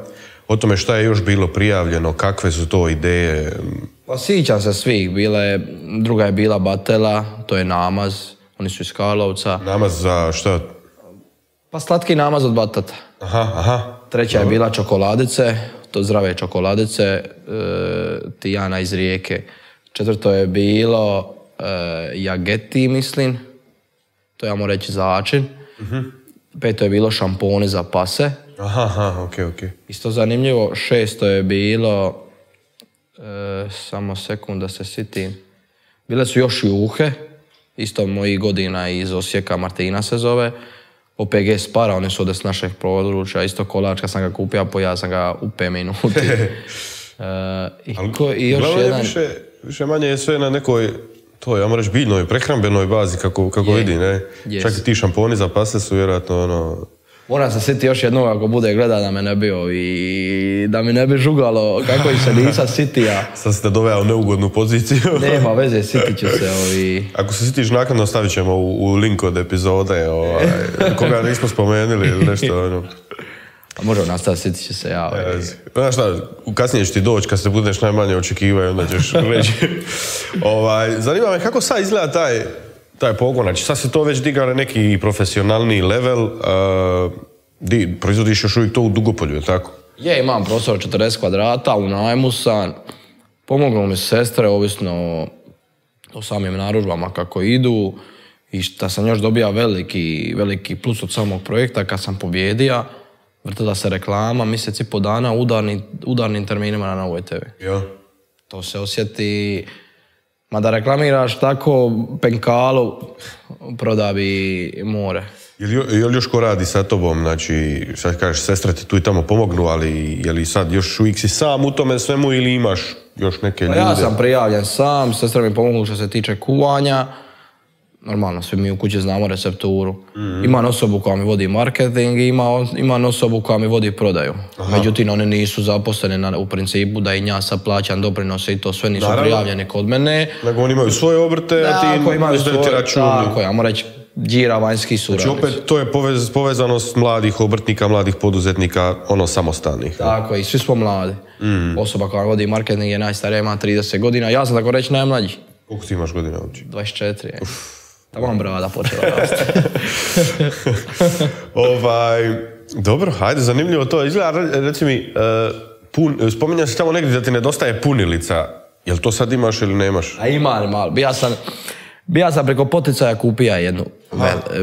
o tome šta je još bilo prijavljeno, kakve su to ideje? Pa sjećam se svih, bila je, druga je bila Batela, to je namaz, oni su iz Karlovca. Namaz za šta? Pa slatki namaz od batata. Aha, aha. Treća je bila čokoladice, to zdrave čokoladice, e, Tijana iz Rijeke. Četvrto je bilo uh, jageti, mislim. To ja moram reći začin. Uh-huh. Peto je bilo šamponi za pase. Aha, aha, okej, okay, okej. Okay. Isto zanimljivo. Šesto je bilo... Uh, samo sekund da se sitim. Bile su još juhe. Isto mojih godina iz Osijeka, Martina se zove. O P G Spara, oni su ovdje s našeg područja. Isto kolač, kad sam ga kupio, pojao sam ga u pet minuti. uh, i, ko, i još jedan... Više, više manje je sve na nekoj, to ja moram reći, biljnoj, prehrambenoj bazi, kako, kako vidi, ne? Yes. Čak i ti šamponi za pase su vjerojatno ono... Moram se sjetiti još jednog ako bude gleda da me ne bi i da mi ne bi žugalo kako ih se nisam sitija. Sad ste doveo u neugodnu poziciju. Nema veze, sitit ću se. Ovi... Ako se sitiš naknadno stavit ćemo u, u link od epizode, ovaj, koga nismo spomenuli ili nešto. Ono. A možemo nastaviti, sitit ću se ja. Ovi... Znaš šta, kasnije će ti doći kad se budeš najmanje očekivaju, onda ćeš reći. ovaj, zanima me kako sad izgleda taj... taj pogon, znači sad se to već diga na neki profesionalni level, uh, di, proizvodiš još uvijek to u Dugopolju, je tako? Je, imam prostor četrdeset kvadrata, u najmu sam, pomoglo mi sestre, ovisno o, o samim narudžbama kako idu, i šta sam još dobija veliki, veliki plus od samog projekta, kad sam pobjedio, vrtila se reklama, mjesec i po dana, udarni, udarnim terminima na Novoj te ve. Ja. To se osjeti... Ma da reklamiraš tako penkalu, proda bi more. Je li, je li još ko radi sa tobom, znači, sad kažeš, sestre ti tu i tamo pomognu, ali je li sad još uvijek si sam u tome svemu ili imaš još neke ljude? Pa ja sam prijavljen sam, sestre mi pomognu što se tiče kuvanja. Normalno, svi mi u kući znamo recepturu. Mm-hmm. Imam osobu koja mi vodi marketing i ima, imam osobu koja mi vodi prodaju. Aha. Međutim, oni nisu zaposleni na, u principu da i ja sad plaćam doprinose i to sve nisu Naravno. prijavljeni kod mene. Nego oni imaju svoje obrte, a ti imaju svoje računi. Tako, ja moram reći, džira vanjski suradnici. Znači opet to je povez, povezanost mladih obrtnika, mladih poduzetnika, ono samostalnih. Tako, i svi smo mladi. Mm. Osoba koja vodi marketing je najstarija, ima trideset godina. Ja sam tako reći najmlađi. Koliko ti imaš godina uopće? dvadeset četiri. Uf. Tamo vam brada počela rasti. ovaj, dobro, hajde, zanimljivo to. Izgleda, reci mi, uh, pun, spominjao si tamo negdje da ti nedostaje punilica. Jel to sad imaš ili nemaš? A imam, malo. Bija sam, bija sam preko poticaja kupija jednu.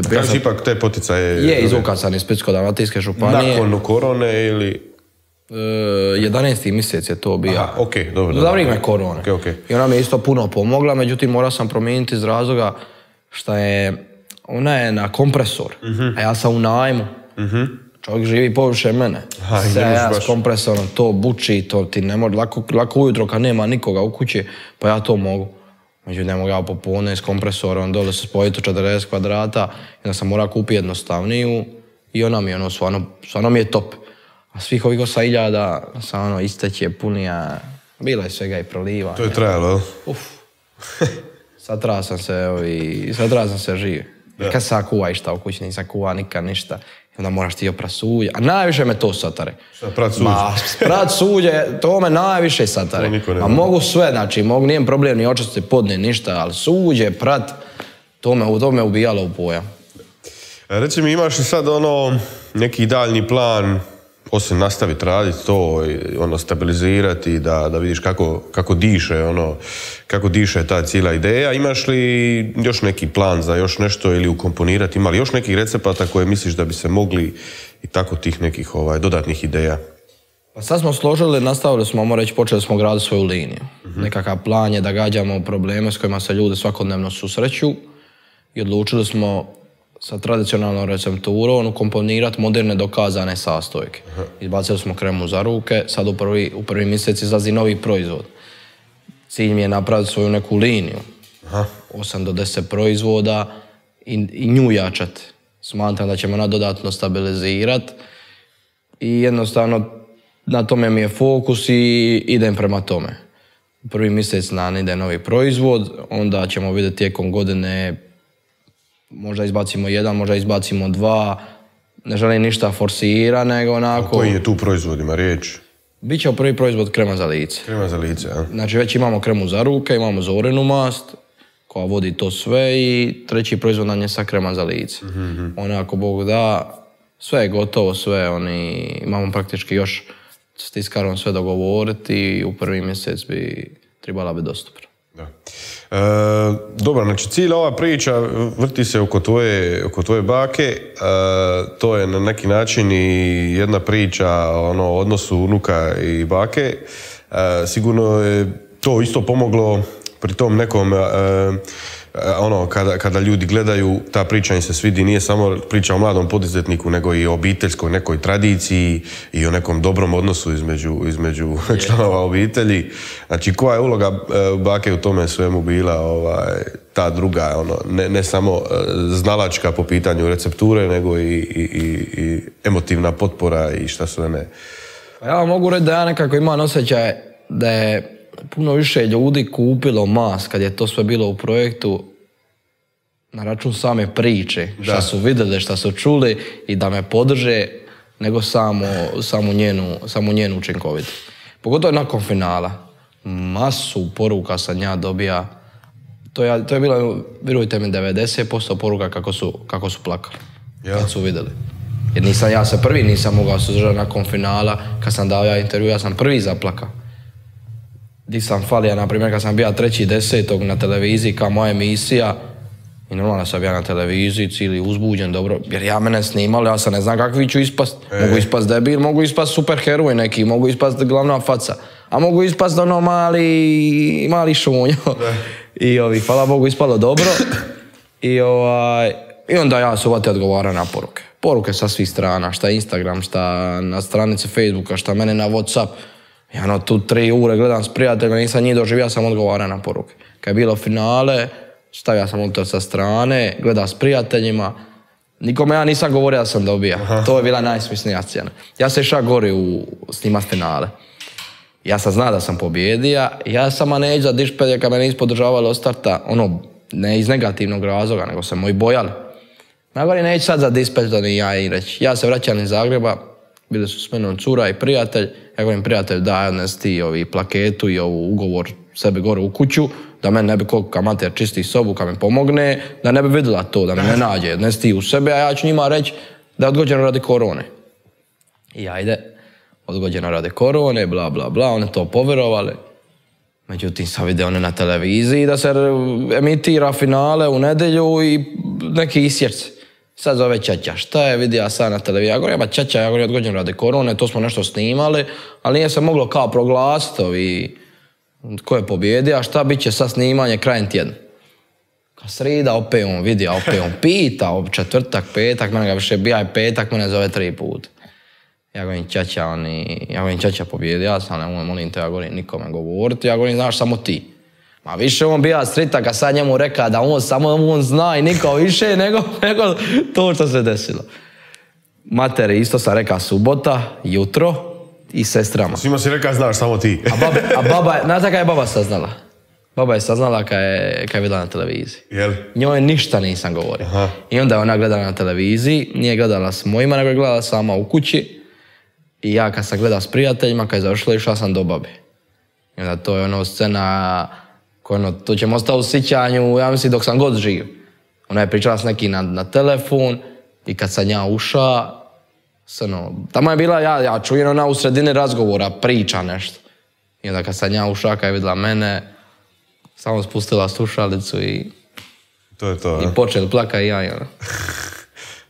Kako si ipak te poticaje? Je, izvukan sam iz Splitsko-dalmatinske županije. Nakon korone ili... Uh, jedanaesti mjesec je to bio. Aha, okej, okay, dobro. Za vrijeme korone. Okay, okay. I ona mi je isto puno pomogla, međutim morao sam promijeniti iz razloga šta je, ona je na kompresor, uh-huh. a ja sam u najmu. Uh-huh. Čovjek živi površe mene. Sve ja s kompresorom, to buči, to ti ne može, lako, lako ujutro kad nema nikoga u kući, pa ja to mogu. Međutim, ne mogu ja popodne s kompresorom, dole se spojiti u četrdeset kvadrata, i onda sam morao kupiti jednostavniju i ona mi je ono, stvarno, stvarno mi je top. A svih ovih osam hiljada sam ono, isteće, punija, bilo je svega i prolivanja. To je trajalo, Uf. Satrao sam se, ovi, satrao sam se živ. Ja. Kad sam kuva išta u kući, nisam kuva nikad ništa. I onda moraš ti oprat suđe. A najviše me to satare. Šta, prat suđe? Ma, prat suđe, to me najviše satare. A mogu sve, znači, mogu, nijem problem ni očistiti podne, ništa, ali suđe, prat, to me, to me ubijalo u pojam. Reci mi, imaš li sad ono, neki daljni plan, osim nastaviti raditi to, ono, stabilizirati, da, da vidiš kako, kako diše, ono, kako diše ta cijela ideja. Imaš li još neki plan za još nešto ili ukomponirati? Ima li još nekih recepata koje misliš da bi se mogli i tako tih nekih ovaj, dodatnih ideja? Pa sad smo složili, nastavili smo, moramo reći, počeli smo graditi svoju liniju. Uh-huh. Nekakav plan je da gađamo probleme s kojima se ljudi svakodnevno susreću i odlučili smo sa tradicionalnom recepturom ukomponirati moderne dokazane sastojke. Aha. Izbacili smo kremu za ruke, sad u prvi, u prvi mjesec izlazi novi proizvod. Cilj mi je napraviti svoju neku liniju. Aha. osam do deset proizvoda i, i nju jačati. Smatram da ćemo ona dodatno stabilizirati i jednostavno na tome mi je fokus i idem prema tome. U prvi mjesec nam ide novi proizvod, onda ćemo vidjeti tijekom godine možda izbacimo jedan, možda izbacimo dva, ne želim ništa forsira, nego onako... A koji je tu proizvod, ima riječ? Biće prvi proizvod krema za lice. Krema za lice, a? Znači već imamo kremu za ruke, imamo zorenu mast, koja vodi to sve i treći proizvod nam je sa krema za lice. Mm-hmm. Onako, Bog da, sve je gotovo, sve, oni, imamo praktički još s tiskarom sve dogovoriti i u prvi mjesec bi trebala biti dostupna. Da. E, dobro, znači cijela ova priča vrti se oko tvoje, oko tvoje bake, e, to je na neki način i jedna priča ono, o odnosu unuka i bake. E, sigurno je to isto pomoglo pri tom nekom, e, ono, kada, kada ljudi gledaju, ta priča im se svidi, nije samo priča o mladom poduzetniku, nego i o obiteljskoj nekoj tradiciji i o nekom dobrom odnosu između, između yeah. članova obitelji. Znači, koja je uloga e, bake u tome svemu bila ovaj, ta druga, ono, ne, ne samo e, znalačka po pitanju recepture, nego i, i, i, i emotivna potpora i šta sve ne. Ja vam mogu reći da ja nekako imam osjećaj da je puno više ljudi kupilo Mas kad je to sve bilo u projektu na račun same priče, šta su vidjeli, šta su čuli i da me podrže nego samo, samo, njenu, samo njenu učinkovitost. Pogotovo nakon finala. Masu poruka sam ja dobija. To je, to je bilo, vjerujte mi, devedeset posto poruka kako su, kako su plakali. Ja. Kad su vidjeli. Jer nisam ja se prvi nisam mogao suzdržati nakon finala. Kad sam dao ja intervju, ja sam prvi zaplakao. Di sam falio, na primjer, kad sam bio treći desetog na televiziji kao moja emisija i normalno sam bio na televiziji, cijeli uzbuđen, dobro, jer ja mene snimali, ja sam ne znam kakvi ću ispast. E. Mogu ispast debil, mogu ispast superheroj neki, mogu ispast glavna faca, a mogu ispast ono mali, mali šunjo. I ovi, hvala Bogu, ispalo dobro. I, ovaj, i onda ja se uvati odgovara na poruke. Poruke sa svih strana, šta Instagram, šta na stranici Facebooka, šta mene na Whatsapp. Ja no tu tri ure gledam s prijateljima, nisam njih doživio, sam odgovara na poruke. Kad je bilo finale, stavio sam to sa strane, gledam s prijateljima. Nikome ja nisam govorio da sam dobija. Aha. To je bila najsmisnija scena. Ja se išao gori u snimat finale. Ja sam zna da sam pobjedija. Ja sam neđu za dišpelje kad me nisu podržavali od starta, ono, ne iz negativnog razloga, nego se moji bojali. Ja govorim, neću sad za dispelj, to ni ja i reći. Ja se vraćam iz Zagreba, bili su s menom cura i prijatelj. Ja govorim, prijatelj, daj odnes ti ovi plaketu i ovu ugovor sebi gore u kuću, da meni ne bi koliko amater čisti sobu, kad me pomogne, da ne bi vidjela to, da me ne nađe. Odnes ti u sebe, a ja ću njima reći da je odgođeno radi korone. I ajde, odgođeno radi korone, bla, bla, bla, one to povjerovali. Međutim, sam vidio one na televiziji da se emitira finale u nedjelju i neki isječci. Sad zove Čača, šta je vidio sad na televiziji? Ja govorim, ja Čača, ja govorim, odgođen radi korone, to smo nešto snimali, ali nije se moglo kao proglasiti ovi ko je pobjedio, a šta bit će sad snimanje krajem tjedna. Kad srida, opet on vidio, opet on pita, četvrtak, petak, mene ga više bija i petak, mene zove tri puta. Ja govorim, Čača, oni, ja govorim, Čača pobjedio, ja sam, ne molim te, ja govorim, nikome govoriti, ja govorim, znaš, samo ti. Ma više on bija srita kad sad njemu reka da on samo on zna i niko više nego, nego to što se desilo. Materi isto sam reka subota, jutro i sestrama. Svima si reka znaš samo ti. A baba, a baba znate kada je baba saznala? Baba je saznala kad je, kad je vidjela na televiziji. Jel? Njoj ništa nisam govorio. Aha. I onda je ona gledala na televiziji, nije gledala s mojima, nego je gledala sama u kući. I ja kad sam gledao s prijateljima, kad je završila, išla sam do babe. I onda to je ono scena... Ono, to ćemo ostati u sjećanju, ja mislim, dok sam god živ. Ona je pričala s nekim na, na telefon i kad sam ja uša, ono, tamo je bila, ja, ja čujem ona u sredini razgovora, priča nešto. I onda kad sam ja uša, kad je vidjela mene, samo spustila slušalicu i, to je to, i počeli plaka i ja. I ono.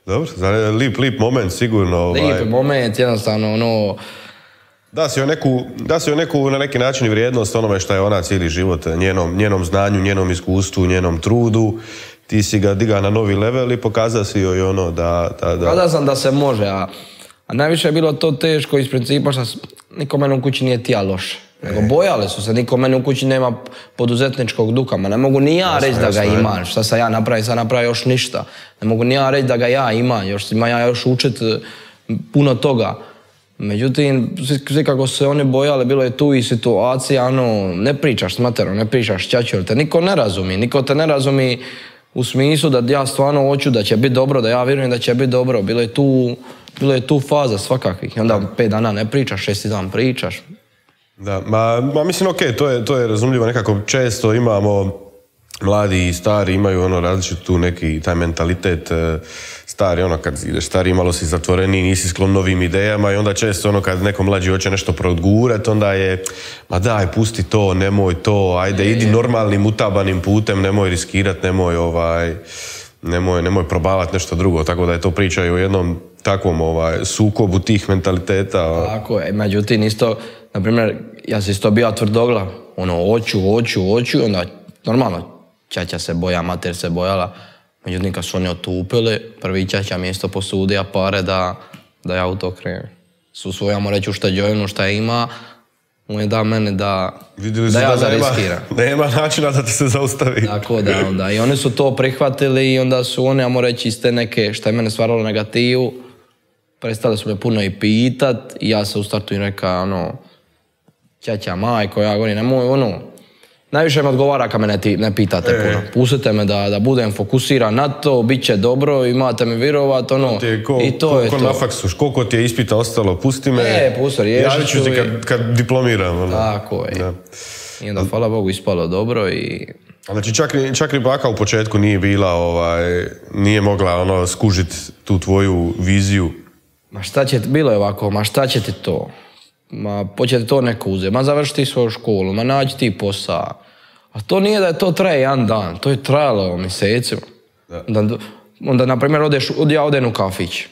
Dobro, lip, lip moment sigurno. Ovaj... Lip moment, jednostavno, ono... Da si joj neku, da si joj neku na neki način vrijednost onome što je ona cijeli život, njenom, njenom znanju, njenom iskustvu, njenom trudu. Ti si ga diga na novi level i pokazao si joj ono da... da, da... Pokazao sam da se može, a, a najviše je bilo to teško iz principa što niko mene u kući nije tija loše. Nego bojali su se, niko mene u kući nema poduzetničkog duha, ma ne mogu ni ja reći da ga imam, šta sam ja napravim, sam napravio još ništa. Ne mogu ni ja reći da ga ja imam, još ima ja još učit puno toga. Međutim, svi kako se oni bojali, bilo je tu i situacija, ono, ne pričaš s materom, ne pričaš s Čačom, te niko ne razumi, niko te ne razumi u smislu da ja stvarno hoću da će biti dobro, da ja vjerujem da će biti dobro. Bilo je tu, bilo je tu faza svakakvih. I onda pet dana ne pričaš, šesti dan pričaš. Da, ma, ma mislim, okej, okay, to je, to je razumljivo, nekako često imamo, mladi i stari imaju ono različit tu neki taj mentalitet, stari, ono, kad ideš stari, malo si zatvoreni, nisi sklon novim idejama i onda često, ono, kad neko mlađi hoće nešto progurati, onda je, ma daj, pusti to, nemoj to, ajde, idi normalnim, utabanim putem, nemoj riskirati, nemoj, ovaj, nemoj, nemoj probavati nešto drugo, tako da je to priča i o jednom takvom, ovaj, sukobu tih mentaliteta. Tako je, međutim, isto, na primjer, ja sam isto bio tvrdoglav, ono, hoću, hoću, hoću, onda, normalno, ćaća se boja, mater se bojala, međutim, kad su oni otupili, prvi ćaća mi je isto posudio pare da, da ja u to krenem. Su svojamo reći u šteđevinu šta ima, on je da mene da, da ja zariskiram. Nema načina da te se zaustavi. Tako da, onda, i oni su to prihvatili i onda su oni, ajmo reći, iz te neke, šta je mene stvaralo negativu, prestali su me puno i pitat i ja se u startu im rekao, ono, ćaća, majko, ja govorim, nemoj, ono, najviše me odgovara kad me ne, ti, ne pitate e. puno. Pustite me da, da budem fokusiran na to, bit će dobro, imate mi virovat, ono, ko, i to ko, je ko to. Na faksu, koliko ti je ispita ostalo, pusti me, e, pusti, javit ću ti kad, kad diplomiram. Ono. Tako je. Da. I onda, hvala Bogu, ispalo dobro i... Znači, čak, čak ni baka u početku nije bila, ovaj, nije mogla ono, skužiti tu tvoju viziju. Ma šta će, bilo je ovako, ma šta će ti to? Ma početi to neko uzeti, ma završiti svoju školu, ma naći ti posao. A to nije da je to traje jedan dan, to je trajalo mjesecima. Onda, onda, na primjer, odeš, ja odem u kafić.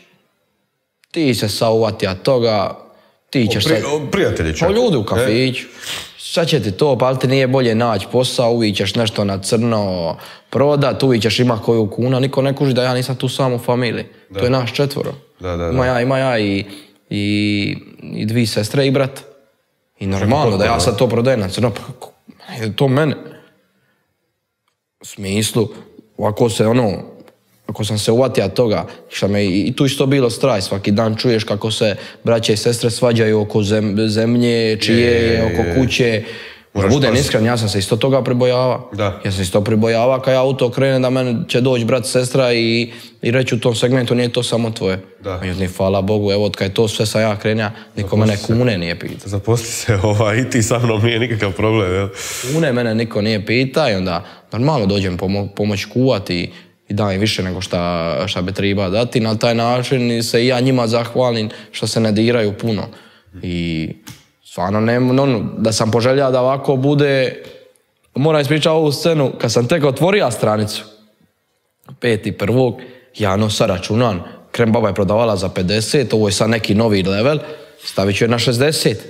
Ti se sauvati od toga, ti ćeš... O, pri, o, prijatelji čak. O ljudi u kafiću. E? Sad će ti to, pa ali ti nije bolje naći posao, uvijek ćeš nešto na crno prodat, uvijek ćeš ima koju kuna, niko ne kuži da ja nisam tu sam u familiji. Da. To je naš četvoro. Da, da, da. Ima ja, ima ja i, i, i dvi sestre i brat. I normalno da ja sad to prodajem na crno, pa je to mene. U smislu, ovako se ono, ako sam se uvatio toga, šta me i tu isto bilo straj, svaki dan čuješ kako se braće i sestre svađaju oko zem, zemlje, čije, je, je, oko kuće. Da budem iskren, ja sam se isto toga pribojava. Da. Ja sam isto pribojava kad ja u to krenem da meni će doći brat, sestra i, i reći u tom segmentu nije to samo tvoje. Da. Međutim, hvala Bogu, evo kad je to sve sa ja krenja, niko mene kune nije pita. Zaposli se ovaj, i ti sa mnom nije nikakav problem, jel? Kune mene niko nije pita i onda normalno dođem pomo pomoć kuvati i dajem više nego šta, šta bi treba dati. Na taj način se i ja njima zahvalim što se ne diraju puno. I stvarno, ne, no, da sam poželjao da ovako bude, moram ispričati ovu scenu, kad sam tek otvorio stranicu, peti prvog, ja no sad računam, krem baba je prodavala za pedeset, ovo je sad neki novi level, stavit ću je na šezdeset.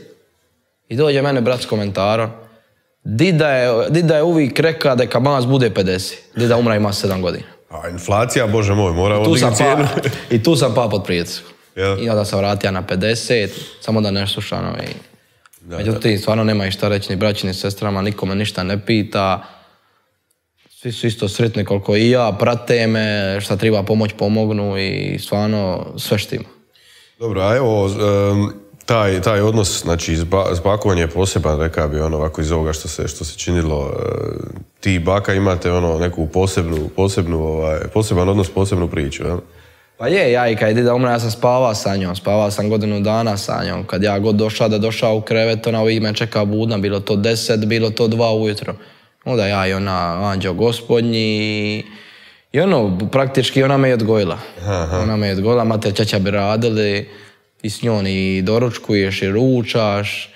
I dođe mene brat s komentarom, dida je, dida je uvijek rekao da kad mas bude pedeset, dida umra ima sedam godina. A inflacija, bože moj, mora odigati cijenu. Pa, I tu sam pa pod pritiskom. Yeah. I onda sam vratio na pedeset, samo da ne slušam. I... Da, međutim, da. Stvarno nema i šta reći ni braći ni sestrama, nikome ništa ne pita. Svi su isto sretni koliko i ja, prate me, šta treba pomoć pomognu i stvarno sve štima. Dobro, a evo, um, taj, taj odnos, znači, s, ba, s bakom je poseban, rekao bi, ono, ovako iz ovoga što se, što se činilo. Uh, ti i baka imate, ono, neku posebnu, posebnu, ovaj, poseban odnos, posebnu priču, jel? Pa je, ja i kad je dida umra, ja sam spavao sa njom, spavao sam godinu dana sa njom. Kad ja god došao da došao u krevet, ona uvijek me čeka budna, bilo to deset, bilo to dva ujutro. Onda ja i ona, anđeo gospodnji, i ono, praktički ona me je odgojila. Aha. Ona me je odgojila, mater čača bi radili, i s njom i doručkuješ i ručaš,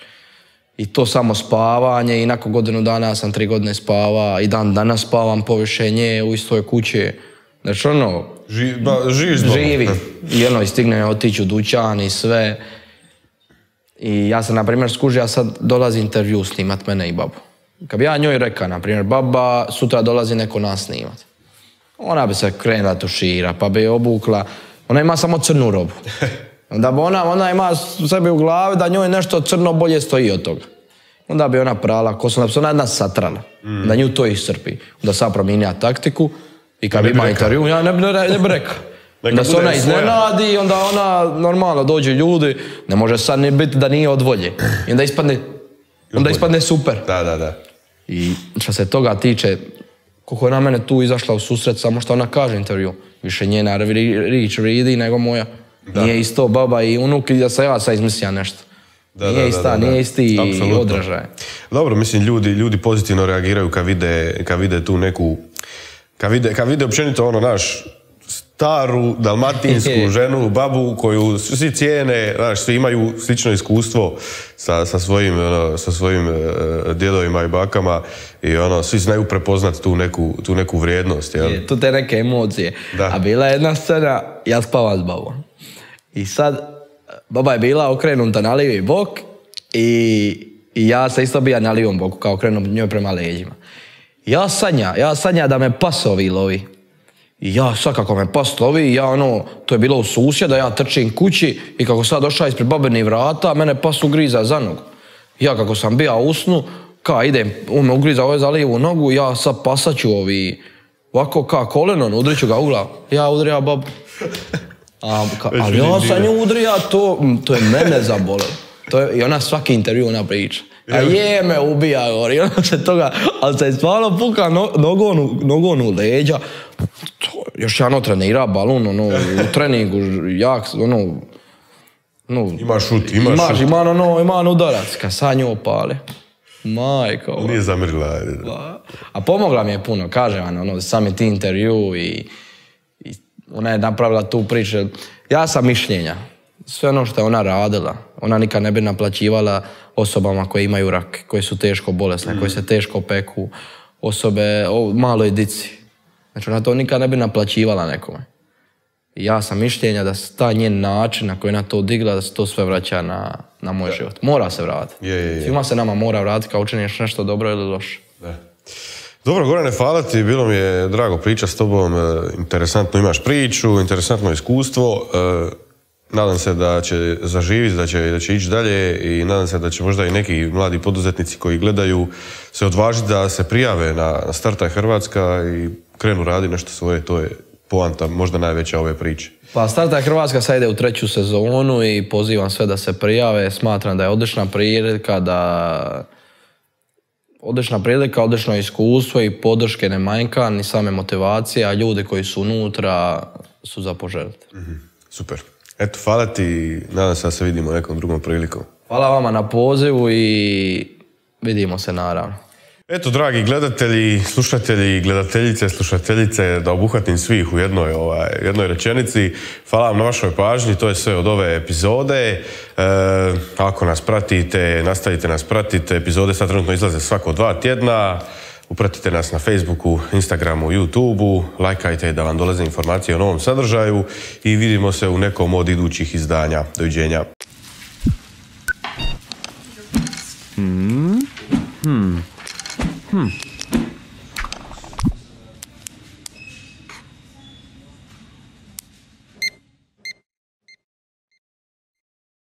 i to samo spavanje, i nakon godinu dana sam tri godine spava, i dan danas spavam poviše nje u istoj kući. Znači ono, Ži, ba, živiš živi. I ono, i stigne otići u dućan i sve. I ja sam, na primjer, skužio, ja sad dolazi intervju snimat mene i babu. Kad bi ja njoj rekao, na primjer, baba, sutra dolazi neko nas snimat. Ona bi se krenula tušira, pa bi je obukla. Ona ima samo crnu robu. Onda bi ona, ona ima sebi u glavi da njoj nešto crno bolje stoji od toga. Onda bi ona prala kosu, onda bi se ona jedna satrala. Mm. Da nju to iscrpi. Onda sam promijenila taktiku. I kad bi ima intervju, ja ne bi ne, ne rekao. Da se ona iznenadi, onda ona normalno dođu ljudi, ne može sad ni biti da nije od volje. I onda ispadne, onda ispadne super. Da, da, da. I što se toga tiče, koliko je na mene tu izašla u susret, samo što ona kaže intervju. Više njena rič vridi nego moja. Da. Nije isto baba i unuk i da se ja sad izmislija nešto. Da, nije da, ista, da, da, nije isti apsolutno. Odražaj. Dobro, mislim, ljudi, ljudi pozitivno reagiraju kad vide, kad vide tu neku... Kad vide, kad vide općenito ono naš, staru, dalmatinsku ženu, babu koju svi cijene, znaš, svi imaju slično iskustvo sa, sa svojim, ono, sa svojim uh, djedovima i bakama i ono, svi znaju prepoznati tu neku, tu neku vrijednost. Jel? Je, tu te neke emocije. Da. A bila je jedna scena, ja spavam s babom. I sad, baba je bila okrenuta na lijevi bok i, i ja se isto bija na lijevom boku, kao okrenut njoj prema leđima. Ja sanja, ja sanja da me pasovi lovi. I ja sad kako me pas lovi, ja ono, to je bilo u susjeda, ja trčim kući i kako sad došao ispred babenih vrata, mene pas ugriza za nogu. Ja kako sam bija u snu, ka idem, on me ugriza ove za lijevu nogu, ja sad pasaću ovi, ovako ka kolenom, udriću ga u glavu. Ja udrija babu. A, ka, ali ja sam nju udrija, to, to je mene zabolelo. To je, i ona svaki intervju ona priča. A je me ubija, gori, ona se toga, ali se je stvarno puka no, nogonu, nogonu leđa. To, još jedno trenira balon, ono, u treningu, jak, ono, no, Ima šut, ima imaš, šut. ima ono, ima udarac, kad sad nju opale. Majko. Nije zamirgla. A pomogla mi je puno, kažem vam, ono, sami ti intervju i, i ona je napravila tu priču. Ja sam mišljenja, sve ono što je ona radila, ona nikad ne bi naplaćivala osobama koje imaju rak, koje su teško bolesne, mm. koje se teško peku, osobe, o, maloj dici. Znači ona to nikad ne bi naplaćivala nekome. I ja sam mišljenja da se ta njen način na koji je ona to digla, da se to sve vraća na, na moj život. Mora se vratiti. Je, je, je. Svima se nama mora vratiti kao učiniš nešto dobro ili loše. Da. Dobro, Gorane, hvala ti, bilo mi je drago pričati s tobom, interesantno imaš priču, interesantno iskustvo, nadam se da će zaživiti, da će, da će ići dalje i nadam se da će možda i neki mladi poduzetnici koji gledaju se odvažiti da se prijave na, na Startaj Hrvatska i krenu raditi nešto svoje, to je poanta, možda najveća ove priče. Pa Startaj Hrvatska sad ide u treću sezonu i pozivam sve da se prijave, smatram da je odlična prilika, da odlična prilika, odlično iskustvo i podrške ne manjka, ni same motivacije, a ljudi koji su unutra su za poželjeti. Mm-hmm. Super. Eto, hvala ti, nadam se da se vidimo nekom drugom prilikom. Hvala vama na pozivu i vidimo se naravno. Eto, dragi gledatelji, slušatelji, gledateljice, slušateljice, da obuhvatim svih u jednoj, ovaj, jednoj rečenici. Hvala vam na vašoj pažnji, to je sve od ove epizode. E, ako nas pratite, nastavite nas pratiti, epizode sad trenutno izlaze svako dva tjedna. Upratite nas na Facebooku, Instagramu, YouTubeu, lajkajte da vam dolaze informacije o novom sadržaju i vidimo se u nekom od idućih izdanja. Doviđenja. Hmm. Hmm. Hmm.